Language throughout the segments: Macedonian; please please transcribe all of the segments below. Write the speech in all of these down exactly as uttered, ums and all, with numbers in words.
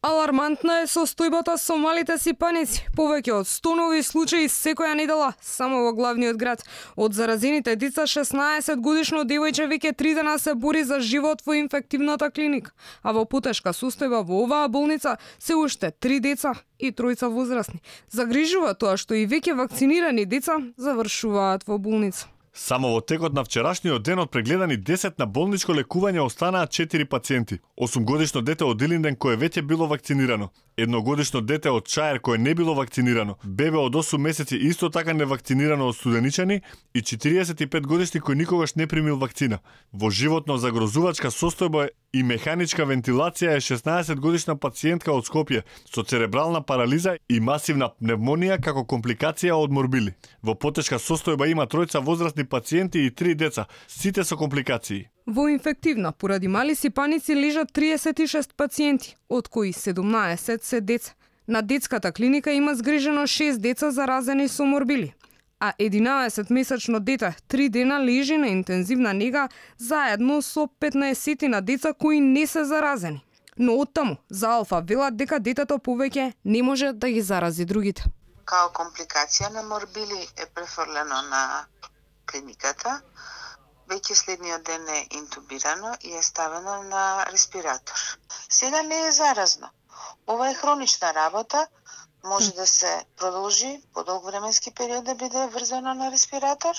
Алармантна е состојбата со малите сипаници. Повеќе од сто нови случаи секоја недела само во главниот град. Од заразените деца, шеснаесет годишно девојче веќе три дена се бори за живот во инфективната клиника, а во потешка состојба во оваа болница се уште три деца и тројца возрастни. Загрижува тоа што и веќе вакцинирани деца завршуваат во болница. Само во текот на вчерашниот ден од прегледани десет на болничко лекување останаа четири пациенти. осумгодишно дете од Илинден кое веќе било вакцинирано, едногодишно дете од Чаер кое не било вакцинирано, бебе од осум месеци исто така невакцинирано од Студеничани и четириесет и пет годишни кој никогаш не примил вакцина. Во животно загрозувачка состојба и механичка вентилација е шеснаесет годишна пациентка од Скопје со церебрална парализа и масивна пневмонија како компликација од морбили. Во потешка состојба има тројца возрастни пациенти и три деца, сите со компликации. Во инфективна поради мали сипаници лежат триесет и шест пациенти, од кои седумнаесет се деца. На детската клиника има згрижено шест деца заразени со морбили, а единаесет месечно дете три дена лежи на интензивна нега заедно со петнаесет на деца кои не се заразени. Но оттаму за Алфа велат дека детето повеќе не може да ги зарази другите. Као компликација на морбили е префрлено на клиниката. Веќе следниот ден е интубирано и е ставено на респиратор. Сега не е заразно. Ова е хронична работа, може да се продолжи подолг временски период да биде врзано на респиратор.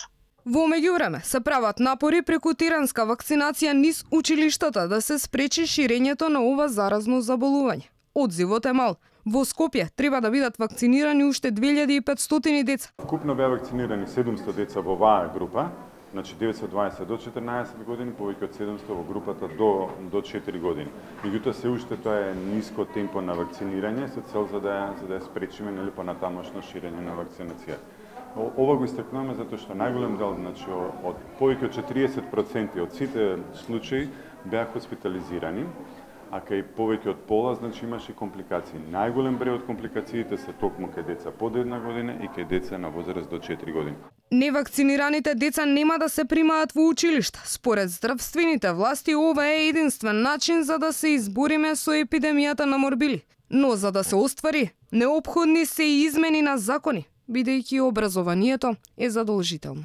Во меѓувреме се прават напори преку тиранска вакцинација низ училиштата да се спречи ширењето на ова заразно заболување. Одзивот е мал. Во Скопје треба да бидат вакцинирани уште две илјади и петстотини деца. Купно беа вакцинирани седумсто деца во оваа група, значи деветстотини и дваесет до четрнаесет години, повеќе од седумсто во групата до до четири години. Меѓутоа се уште тоа е ниско темпо на вакцинирање со цел за да за да спречиме нели понатамошно ширење на вакцинација. Ова го истакнуваме затоа што најголем дел, значи од повеќе од четириесет проценти од сите случаи беа хоспитализирани, а кај повеќе од пола, значи имаше компликации. Најголем број од компликациите се токму кај деца под една година и кај деца на возраст до четири години. Невакцинираните деца нема да се примаат во училишта. Според здравствените власти, ова е единствен начин за да се избориме со епидемијата на морбили. Но за да се оствари, неопходни се и измени на закони, бидејќи образованието е задолжително.